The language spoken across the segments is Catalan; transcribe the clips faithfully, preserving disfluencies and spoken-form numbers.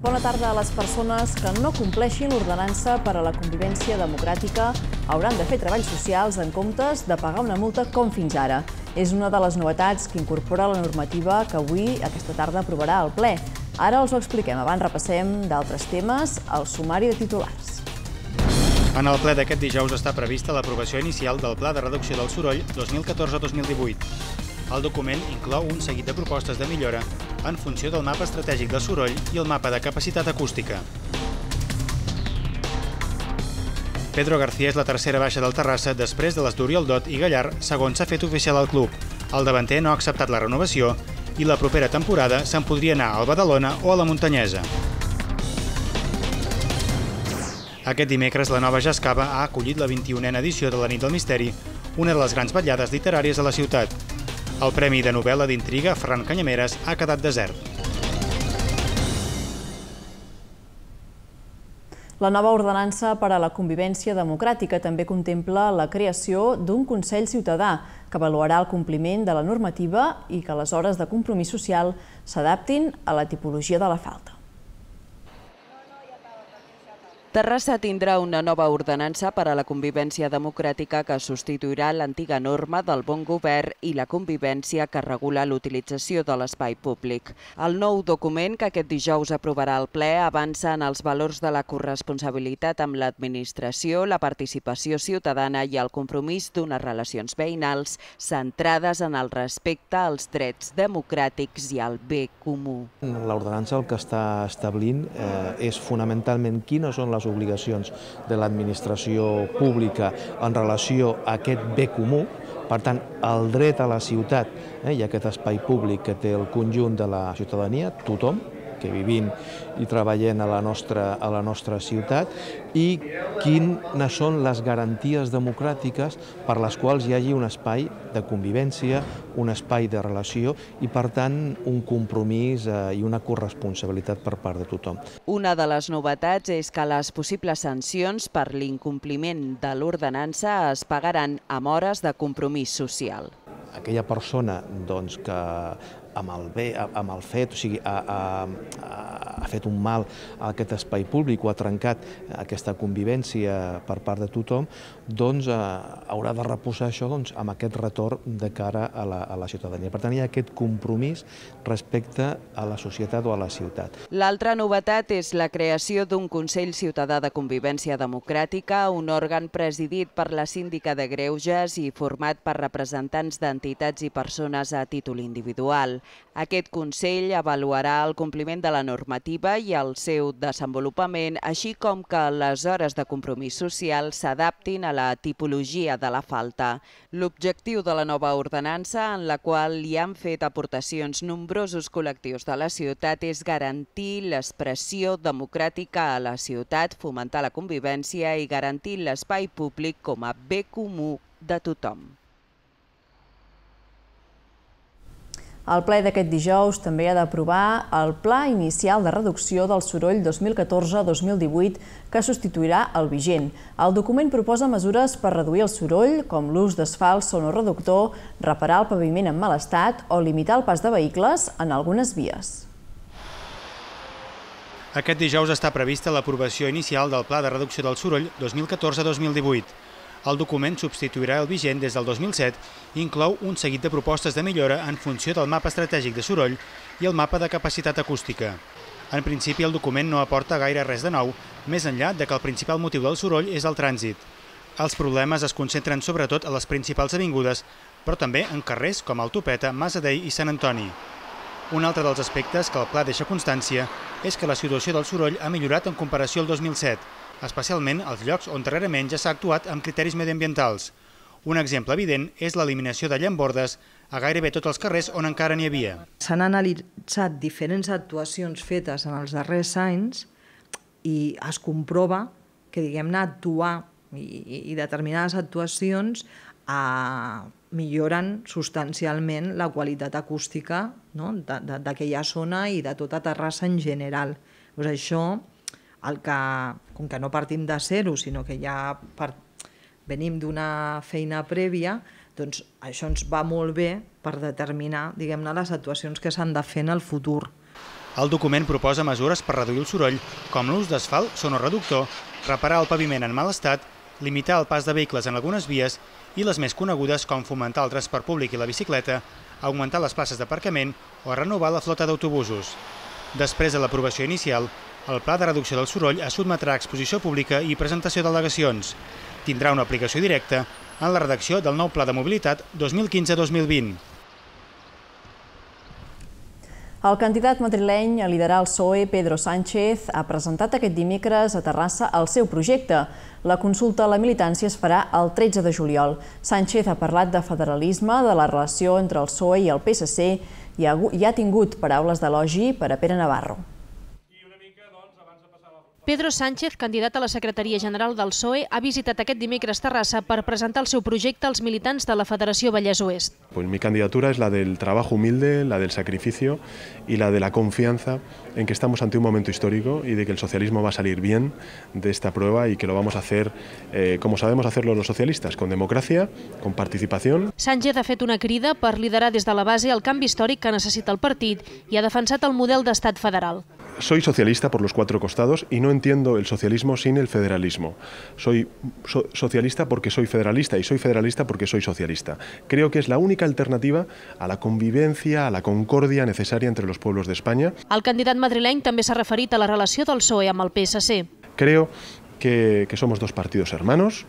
Bona tarda a les persones que no compleixin l'ordenança per a la convivència democràtica hauran de fer treballs socials en comptes de pagar una multa com fins ara. És una de les novetats que incorpora la normativa que avui, aquesta tarda, aprovarà el ple. Ara els ho expliquem. Abans repassem d'altres temes al sumari de titulars. En el ple d'aquest dijous està prevista l'aprovació inicial del Pla de Reducció del Soroll dos mil catorze dos mil divuit. El document inclou un seguit de propostes de millora en funció del mapa estratègic del soroll i el mapa de capacitat acústica. Pedro García és la tercera baixa del Terrassa després de les d'Oriol Dot i Gallar, segons s'ha fet oficial al club. El davanter no ha acceptat la renovació i la propera temporada se'n podria anar al Badalona o a la Muntanyesa. Aquest dimecres, la Nova Jascava ha acollit la vint-i-unena edició de la Nit del Misteri, una de les grans vetllades literàries de la ciutat. El Premi de Novel·la d'Intriga Ferran Canyameres ha quedat desert. La nova ordenança per a la convivència democràtica també contempla la creació d'un Consell Ciutadà que avaluarà el compliment de la normativa i que les hores de compromís social s'adaptin a la tipologia de la falta. Terrassa tindrà una nova ordenança per a la convivència democràtica que substituirà l'antiga norma del bon govern i la convivència que regula l'utilització de l'espai públic. El nou document que aquest dijous aprovarà el ple avança en els valors de la corresponsabilitat amb l'administració, la participació ciutadana i el compromís d'unes relacions veïnals centrades en el respecte als drets democràtics i al bé comú. L'ordenança el que està establint és fonamentalment quines són les obligacions de l'administració pública en relació a aquest bé comú. Per tant, el dret a la ciutat i a aquest espai públic que té el conjunt de la ciutadania, tothom que vivim i treballem a la nostra, a la nostra ciutat, i quines són les garanties democràtiques per les quals hi hagi un espai de convivència, un espai de relació i, per tant, un compromís i una corresponsabilitat per part de tothom. Una de les novetats és que les possibles sancions per l'incompliment de l'ordenança es pagaran amb hores de compromís social. Aquella persona doncs, que amb el bé, amb el fet, o sigui, ha, ha, ha fet un mal a aquest espai públic o ha trencat aquesta convivència per part de tothom, doncs eh, haurà de reposar això doncs, amb aquest retorn de cara a la, a la ciutadania. Per tant, hi ha aquest compromís respecte a la societat o a la ciutat. L'altra novetat és la creació d'un Consell Ciutadà de Convivència Democràtica, un òrgan presidit per la síndica de Greuges i format per representants d'entitats i persones a títol individual. Aquest Consell avaluarà el compliment de la normativa i el seu desenvolupament, així com que les hores de compromís social s'adaptin a la tipologia de la falta. L'objectiu de la nova ordenança, en la qual hi han fet aportacions nombrosos col·lectius de la ciutat, és garantir l'expressió democràtica a la ciutat, fomentar la convivència i garantir l'espai públic com a bé comú de tothom. El ple d'aquest dijous també ha d'aprovar el Pla Inicial de Reducció del Soroll dos mil catorze dos mil divuit que substituirà el vigent. El document proposa mesures per reduir el soroll, com l'ús d'asfalt sonoreductor, reparar el paviment en mal estat o limitar el pas de vehicles en algunes vies. Aquest dijous està prevista l'aprovació inicial del Pla de Reducció del Soroll dos mil catorze dos mil divuit. El document substituirà el vigent des del dos mil set i inclou un seguit de propostes de millora en funció del mapa estratègic de soroll i el mapa de capacitat acústica. En principi, el document no aporta gaire res de nou, més enllà de que el principal motiu del soroll és el trànsit. Els problemes es concentren sobretot a les principals avingudes, però també en carrers com el Topeta, Masadei i Sant Antoni. Un altre dels aspectes que el pla deixa constància és que la situació del soroll ha millorat en comparació al dos mil set, especialment als llocs on darrerament ja s'ha actuat amb criteris mediambientals. Un exemple evident és l'eliminació de llambordes a gairebé tots els carrers on encara n'hi havia. S'han analitzat diferents actuacions fetes en els darrers anys i es comprova que, diguem-ne, actuar i, i determinades actuacions eh, milloren substancialment la qualitat acústica, no?, d'aquella zona i de tota Terrassa en general. Pues això, el que, com que no partim de zero, sinó que ja per, venim d'una feina prèvia, doncs això ens va molt bé per determinar, diguem-ne, les actuacions que s'han de fer en el futur. El document proposa mesures per reduir el soroll, com l'ús d'asfalt sonoreductor, reparar el paviment en mal estat, limitar el pas de vehicles en algunes vies i les més conegudes com fomentar el transport públic i la bicicleta, augmentar les places d'aparcament o renovar la flota d'autobusos. Després de l'aprovació inicial, el Pla de Reducció del Soroll es sotmetrà a exposició pública i presentació d'al·legacions. Tindrà una aplicació directa en la redacció del nou Pla de Mobilitat dos mil quinze dos mil vint. El candidat madrileny a liderar el P S O E, Pedro Sánchez, ha presentat aquest dimecres a Terrassa el seu projecte. La consulta a la militància es farà el tretze de juliol. Sánchez ha parlat de federalisme, de la relació entre el P S O E i el P S C i ha tingut paraules d'elogi per a Pere Navarro. Pedro Sánchez, candidat a la secretaria general del P S O E, ha visitat aquest dimecres Terrassa per presentar el seu projecte als militants de la Federació Vallès Oest. Pues mi candidatura es la del trabajo humilde, la del sacrificio y la de la confianza en que estamos ante un momento histórico y de que el socialismo va a salir bien de esta prueba y que lo vamos a hacer eh, como sabemos hacerlo los socialistas, con democracia, con participación. Sánchez ha fet una crida per liderar des de la base el canvi històric que necessita el partit i ha defensat el model d'estat federal. Soy socialista por los cuatro costados y no entiendo el socialismo sin el federalismo. Soy so socialista porque soy federalista y soy federalista porque soy socialista. Creo que es la única alternativa a la convivencia, a la concordia necesaria entre los pueblos de España. El candidat madrileny també s'ha referit a la relació del P S O E amb el P S C. Creo que, que somos dos partidos hermanos.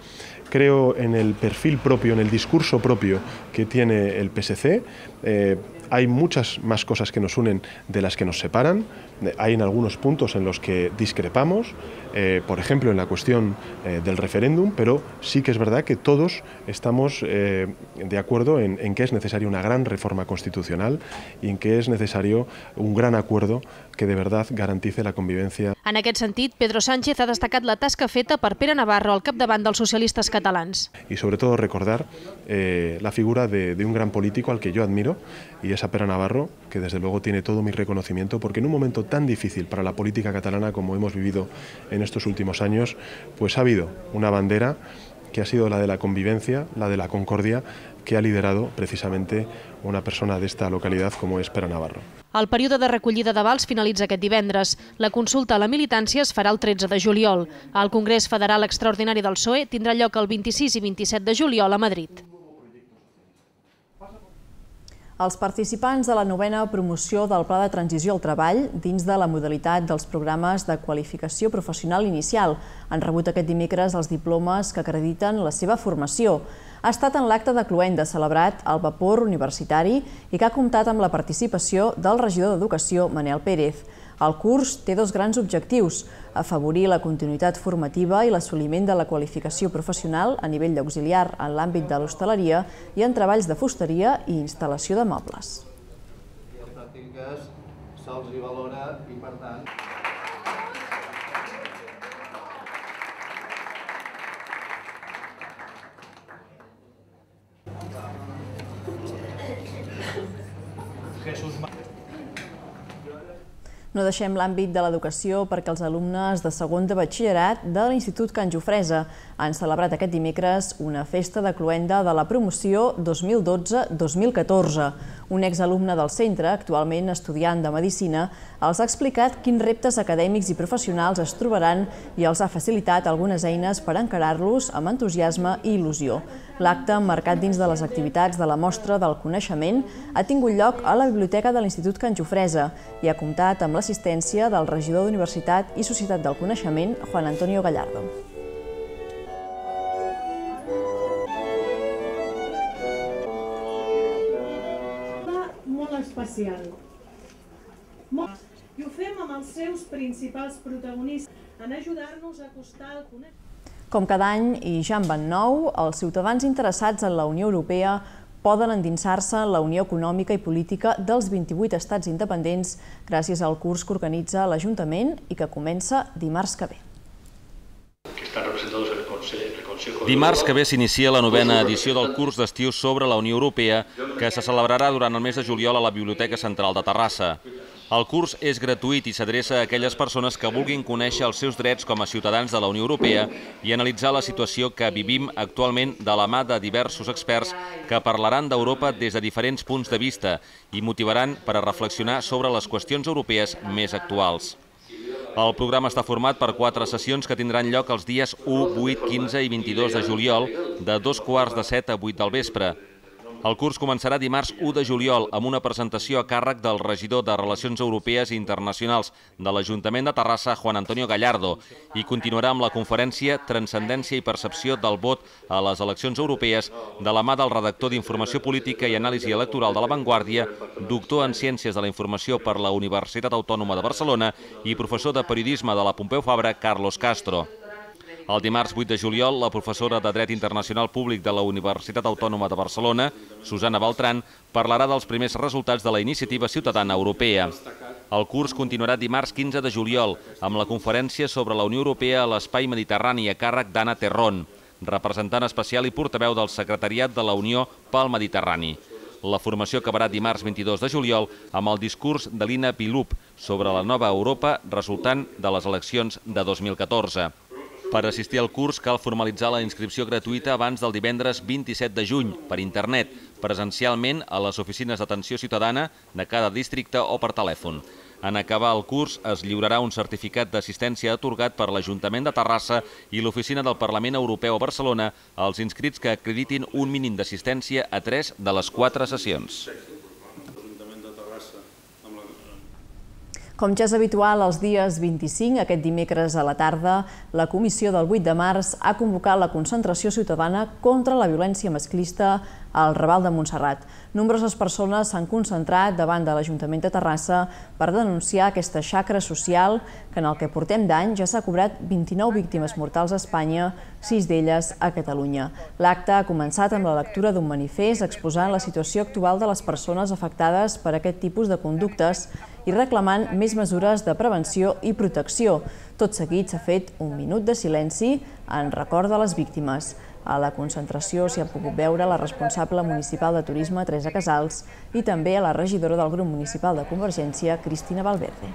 Creo en el perfil propio, en el discurso propio que tiene el P S C. Eh, hay muchas más cosas que nos unen de las que nos separan. Hay en algunos puntos en los que discrepamos, eh, por ejemplo en la cuestión eh, del referéndum, pero sí que es verdad que todos estamos eh, de acuerdo en, en que es necesaria una gran reforma constitucional y en que es necesario un gran acuerdo que de verdad garantice la convivencia. En aquest sentit, Pedro Sánchez ha destacat la tasca feta per Pere Navarro al capdavant dels socialistes catalans. Y sobre todo recordar eh, la figura de, de un gran político al que yo admiro, y es a Pere Navarro, que desde luego tiene todo mi reconocimiento, porque en un momento tan difícil para la política catalana como hemos vivido en estos últimos años, pues ha habido una bandera que ha sido la de la convivencia, la de la concordia, que ha liderado precisamente una persona de esta localidad como es Pere Navarro. El període de recollida d'avals finalitza aquest divendres. La consulta a la militància es farà el tretze de juliol. El Congrés Federal Extraordinari del P S O E tindrà lloc el vint-i-sis i vint-i-set de juliol a Madrid. Els participants de la novena promoció del Pla de Transició al Treball dins de la modalitat dels programes de qualificació professional inicial han rebut aquest dimecres els diplomes que acrediten la seva formació. Ha estat en l'acte de cloenda celebrat al Vapor Universitari i que ha comptat amb la participació del regidor d'Educació, Manel Pérez. El curs té dos grans objectius: afavorir la continuïtat formativa i l'assoliment de la qualificació professional a nivell d'auxiliar en l'àmbit de l'hostaleria i en treballs de fusteria i instal·lació de mobles. Les pràctiques se'ls hi valora i, per tant, No deixem l'àmbit de l'educació perquè els alumnes de segon de batxillerat de l'Institut Can Jofresa han celebrat aquest dimecres una festa de cloenda de la promoció dos mil dotze dos mil catorze. Un exalumne del centre, actualment estudiant de Medicina, els ha explicat quins reptes acadèmics i professionals es trobaran i els ha facilitat algunes eines per encarar-los amb entusiasme i il·lusió. L'acte, emmarcat dins de les activitats de la Mostra del Coneixement, ha tingut lloc a la Biblioteca de l'Institut Can Jofresa i ha comptat amb l'assistència del regidor d'Universitat i Societat del Coneixement, Juan Antonio Gallardo. Molt especial. I ho fem amb els seus principals protagonistes en ajudar-nos a acostar el coneixement. Com cada any, i ja en van nou, els ciutadans interessats en la Unió Europea poden endinsar-se en la Unió Econòmica i Política dels vint-i-vuit estats independents gràcies al curs que organitza l'Ajuntament i que comença dimarts que ve. Dimarts que ve s'inicia la novena edició del curs d'estiu sobre la Unió Europea que se celebrarà durant el mes de juliol a la Biblioteca Central de Terrassa. El curs és gratuït i s'adreça a aquelles persones que vulguin conèixer els seus drets com a ciutadans de la Unió Europea i analitzar la situació que vivim actualment de la mà de diversos experts que parlaran d'Europa des de diferents punts de vista i motivaran per a reflexionar sobre les qüestions europees més actuals. El programa està format per quatre sessions que tindran lloc els dies u, vuit, quinze i vint-i-dos de juliol, de dos quarts de set a vuit del vespre. El curs començarà dimarts u de juliol amb una presentació a càrrec del regidor de Relacions Europees i Internacionals de l'Ajuntament de Terrassa, Juan Antonio Gallardo, i continuarà amb la conferència Transcendència i percepció del vot a les eleccions europees de la mà del redactor d'Informació Política i Anàlisi Electoral de La Vanguardia, doctor en Ciències de la Informació per la Universitat Autònoma de Barcelona i professor de Periodisme de la Pompeu Fabra, Carlos Castro. El dimarts vuit de juliol, la professora de Dret Internacional Públic de la Universitat Autònoma de Barcelona, Susana Beltrán, parlarà dels primers resultats de la Iniciativa Ciutadana Europea. El curs continuarà dimarts quinze de juliol amb la conferència sobre la Unió Europea a l'Espai Mediterrani a càrrec d'Anna Terrón, representant especial i portaveu del Secretariat de la Unió pel Mediterrani. La formació acabarà dimarts vint-i-dos de juliol amb el discurs de Lina Pilup sobre la nova Europa resultant de les eleccions de dos mil catorze. Per assistir al curs cal formalitzar la inscripció gratuïta abans del divendres vint-i-set de juny per internet, presencialment a les oficines d'atenció ciutadana de cada districte o per telèfon. En acabar el curs es lliurarà un certificat d'assistència atorgat per l'Ajuntament de Terrassa i l'Oficina del Parlament Europeu a Barcelona als inscrits que acreditin un mínim d'assistència a tres de les quatre sessions. Com ja és habitual, els dies vint-i-cinc, aquest dimecres a la tarda, la Comissió del vuit de març ha convocat la concentració ciutadana contra la violència masclista al Raval de Montserrat. Nombroses persones s'han concentrat davant de l'Ajuntament de Terrassa per denunciar aquesta xacra social que en el que portem d'any ja s'ha cobrat vint-i-nou víctimes mortals a Espanya, sis d'elles a Catalunya. L'acte ha començat amb la lectura d'un manifest exposant la situació actual de les persones afectades per aquest tipus de conductes i reclamant més mesures de prevenció i protecció. Tot seguit s'ha fet un minut de silenci en record de les víctimes. A la concentració s'hi ha pogut veure la responsable municipal de turisme, Teresa Casals, i també a la regidora del grup municipal de Convergència, Cristina Valverde.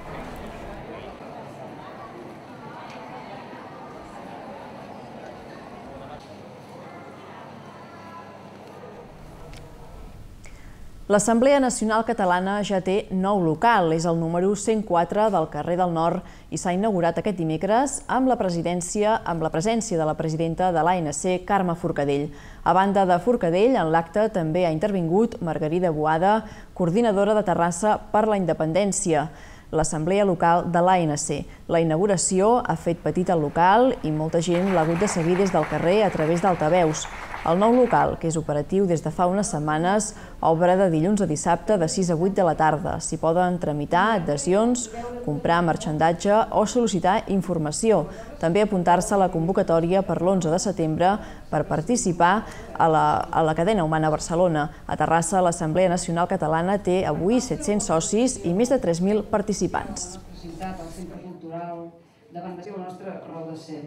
L'Assemblea Nacional Catalana ja té nou local, és el número cent quatre del carrer del Nord i s'ha inaugurat aquest dimecres amb la presidència, amb la presència de la presidenta de l'A N C, Carme Forcadell. A banda de Forcadell, en l'acte també ha intervingut Margarida Boada, coordinadora de Terrassa per la Independència, l'Assemblea Local de l'A N C. La inauguració ha fet petit el local i molta gent l'ha hagut de seguir des del carrer a través d'altaveus. El nou local, que és operatiu des de fa unes setmanes, obre de dilluns a dissabte de sis a vuit de la tarda. S'hi poden tramitar adhesions, comprar marxandatge o sol·licitar informació. També apuntar-se a la convocatòria per l'onze de setembre per participar a la, a la cadena humana Barcelona. A Terrassa, l'Assemblea Nacional Catalana té avui set-cents socis i més de tres mil participants. El Centre Cultural davant de la nostra raó de ser.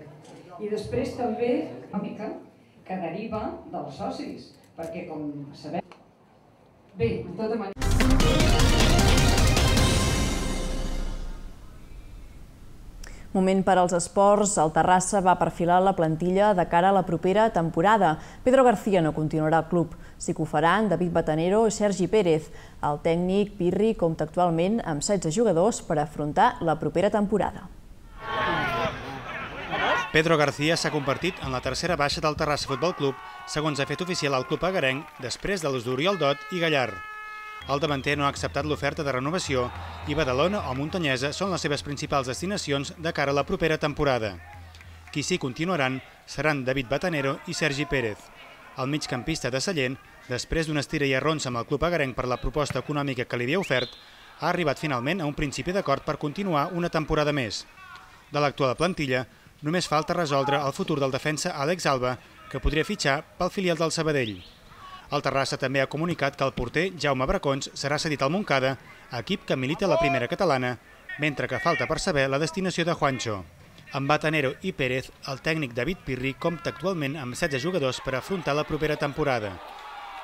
I després també una mica que deriva dels socis, perquè com sabem... Bé, de tota manera... Moment per als esports. El Terrassa va perfilar la plantilla de cara a la propera temporada. Pedro García no continuarà al club. Sí que ho faran David Batanero i Sergi Pérez. El tècnic Pirri compta actualment amb setze jugadors per afrontar la propera temporada. Pedro García s'ha convertit en la tercera baixa del Terrassa Futbol Club, segons ha fet oficial el club agarenc, després de l'ús d'Oriol Dot i Gallar. El davanter no ha acceptat l'oferta de renovació i Badalona o Montanyesa són les seves principals destinacions de cara a la propera temporada. Qui sí continuaran seran David Batanero i Sergi Pérez. El migcampista de Sallent, després d'una estira i arronsa amb el club agarenc per la proposta econòmica que li havia ofert, ha arribat finalment a un principi d'acord per continuar una temporada més. De l'actual plantilla, només falta resoldre el futur del defensa Àlex Alba, que podria fitxar pel filial del Sabadell. El Terrassa també ha comunicat que el porter Jaume Bracons serà cedit al Montcada, equip que milita a la primera catalana, mentre que falta per saber la destinació de Juancho. Amb Batanero i Pérez, el tècnic David Pirri compta actualment amb setze jugadors per afrontar la propera temporada.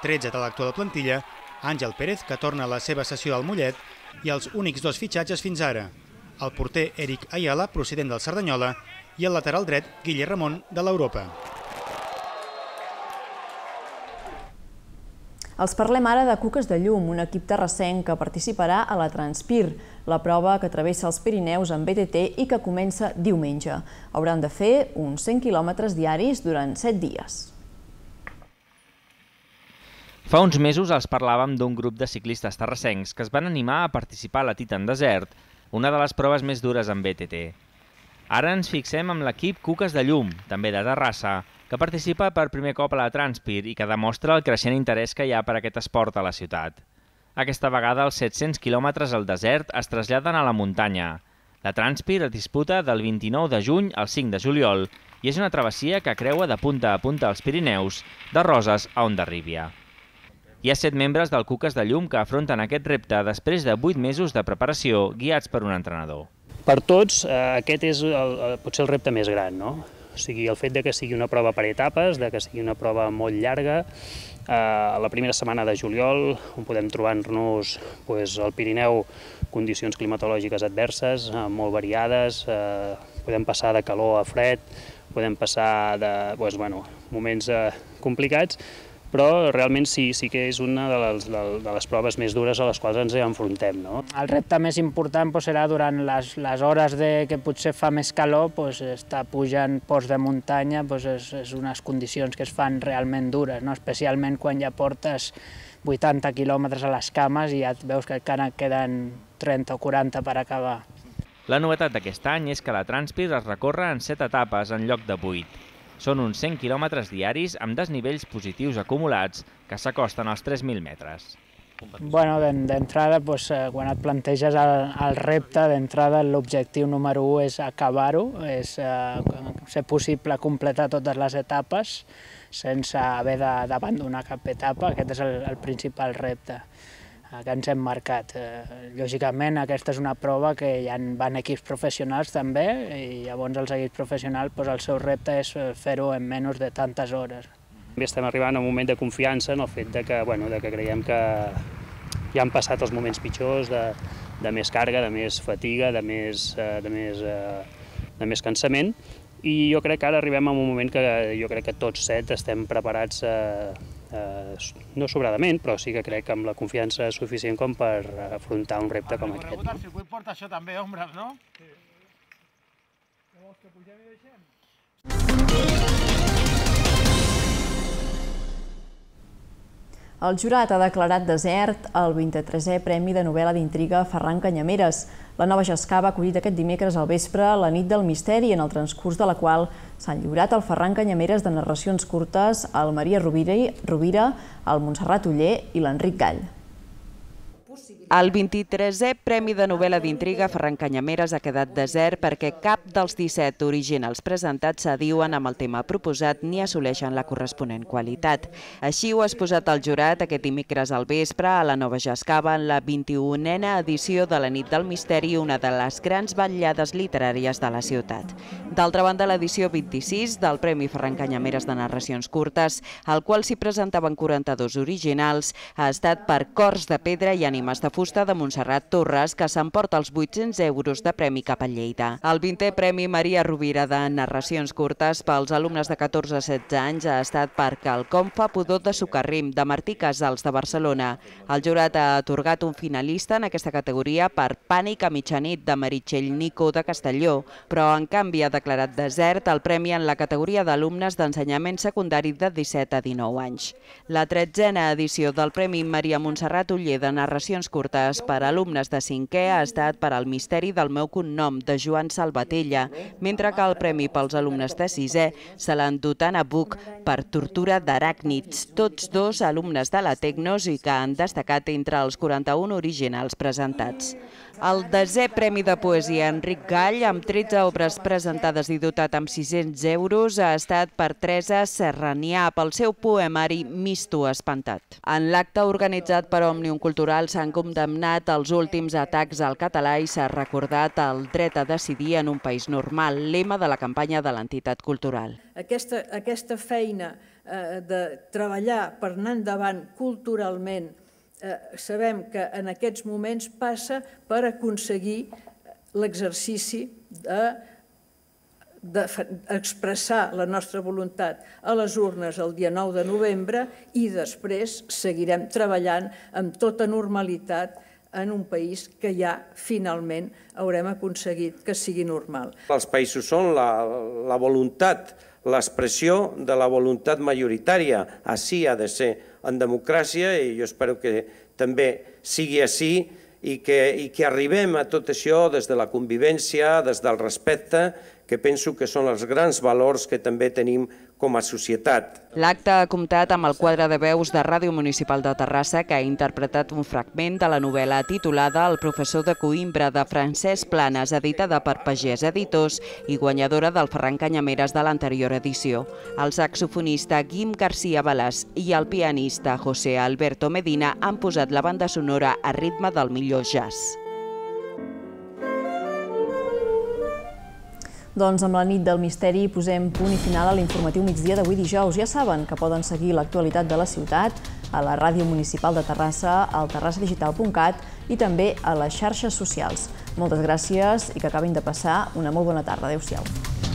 tretze de l'actual plantilla, Àngel Pérez, que torna a la seva sessió al Mollet, i els únics dos fitxatges fins ara, el porter Eric Ayala, procedent del Cerdanyola, i el lateral dret Guille Ramon, de l'Europa. Els parlem ara de Cuques de Llum, un equip terrassenc que participarà a la Transpir, la prova que travessa els Pirineus en B T T i que comença diumenge. Hauran de fer uns cent quilòmetres diaris durant set dies. Fa uns mesos els parlàvem d'un grup de ciclistes terrassencs que es van animar a participar a la Titan Desert, una de les proves més dures en B T T. Ara ens fixem amb l'equip Cuques de Llum, també de Terrassa, que participa per primer cop a la Transpir i que demostra el creixent interès que hi ha per aquest esport a la ciutat. Aquesta vegada els set-cents quilòmetres al desert es traslladen a la muntanya. La Transpir es disputa del vint-i-nou de juny al cinc de juliol i és una travessia que creua de punta a punta els Pirineus, de Roses a Hondarribia. Hi ha set membres del Cuques de Llum que afronten aquest repte després de vuit mesos de preparació guiats per un entrenador. Per tots, aquest és el, potser el repte més gran, no? O sigui, el fet de que sigui una prova per etapes, de que sigui una prova molt llarga, a la primera setmana de juliol, on podem trobar-nos al Pirineu condicions climatològiques adverses, molt variades, podem passar de calor a fred, podem passar de moments complicats, però realment sí que és una de les proves més dures a les quals ens enfrontem. El repte més important serà durant les hores que potser fa més calor, estar pujant ports de muntanya és unes condicions que es fan realment dures, especialment quan ja portes vuitanta quilòmetres a les cames i ja veus que encara queden trenta o quaranta per acabar. La novetat d'aquest any és que la Transpir es recorre en set etapes en lloc de vuit. Són uns cent quilòmetres diaris amb desnivells positius acumulats que s'acosten als tres mil metres. D'entrada, quan et planteges el repte, d'entrada l'objectiu número u és acabar-ho, és ser possible completar totes les etapes sense haver d'abandonar cap etapa. Aquest és el principal repte que ens hem marcat. Lògicament, aquesta és una prova que hi van equips professionals també, i llavors els equips professionals el seu repte és fer-ho en menys de tantes hores. També estem arribant a un moment de confiança en el fet que creiem que ja han passat els moments pitjors, de més càrrega, de més fatiga, de més cansament, i jo crec que ara arribem a un moment que jo crec que tots set estem preparats, no sobradament, però sí que crec que amb la confiança suficient com per afrontar un repte com aquest. El circuit porta això també, ombres, no? Vols que pugem i deixem? El jurat ha declarat desert el vint-i-tresè Premi de Novel·la d'Intriga Ferran Canyameres. La Nova Jascà va acollir aquest dimecres al vespre la nit del misteri, en el transcurs de la qual s'han lliurat el Ferran Canyameres de narracions curtes, el Maria Rovira, el Montserrat Oller i l'Enric Gall. El vint-i-tresè Premi de Novel·la d'Intriga Ferran Canyameres ha quedat desert perquè cap dels disset originals presentats s'adiuen amb el tema proposat ni assoleixen la corresponent qualitat. Així ho ha exposat el jurat aquest dimecres al vespre a la Nova Jascava en la vint-i-unena edició de la Nit del Misteri, una de les grans vetllades literàries de la ciutat. D'altra banda, l'edició vint-i-sis del Premi Ferran Canyameres de narracions curtes, al qual s'hi presentaven quaranta-dos originals, ha estat per Cors de pedra i ànimes de fusta de Montserrat Torres, que s'emporta els vuit-cents euros de premi cap a Lleida. El vintè Premi Maria Rovira de narracions curtes pels alumnes de catorze a setze anys ha estat per Quelcom fa pudor de Socarrim, de Martí Casals, de Barcelona. El jurat ha atorgat un finalista en aquesta categoria per Pànic a mitjanit, de Meritxell Nico, de Castelló, però en canvi ha declarat desert el premi en la categoria d'alumnes d'ensenyament secundari de disset a dinou anys. La tretzena edició del Premi Maria Montserrat Oller de narracions curtes per alumnes de cinquè ha estat per al misteri del meu cognom, de Joan Salvatella, mentre que el premi pels alumnes de sisè se l'han dut a Nabuc per tortura d'aràcnids, tots dos alumnes de la Tecnos i que han destacat entre els quaranta-un originals presentats. El desè Premi de Poesia Enric Gall, amb tretze obres presentades i dotat amb sis-cents euros, ha estat per Teresa Serranià pel seu poemari Misto espantat. En l'acte organitzat per Òmnium Cultural s'han condemnat els últims atacs al català i s'ha recordat el dret a decidir en un país normal, lema de la campanya de l'entitat cultural. Aquesta feina de treballar per anar endavant culturalment sabem que en aquests moments passa per aconseguir l'exercici d'expressar la nostra voluntat a les urnes el dia nou de novembre i després seguirem treballant amb tota normalitat en un país que ja finalment haurem aconseguit que sigui normal. Els països són la voluntat, l'expressió de la voluntat majoritària. Així ha de ser en democràcia i jo espero que també sigui així i que arribem a tot això des de la convivència, des del respecte, que penso que són els grans valors que també tenim com a societat. L'acte ha comptat amb el quadre de veus de Ràdio Municipal de Terrassa, que ha interpretat un fragment de la novel·la titulada El professor de Coïmbra, de Francesc Planas, editada per Pagès Editors i guanyadora del Ferran Canyameres de l'anterior edició. El saxofonista Guim García Balàs i el pianista José Alberto Medina han posat la banda sonora a ritme del millor jazz. Doncs amb la nit del misteri posem punt i final a l'informatiu migdia d'avui dijous. Ja saben que poden seguir l'actualitat de la ciutat a la Ràdio Municipal de Terrassa, al terrassa digital punt cat i també a les xarxes socials. Moltes gràcies i que acabin de passar una molt bona tarda. Adéu-siau.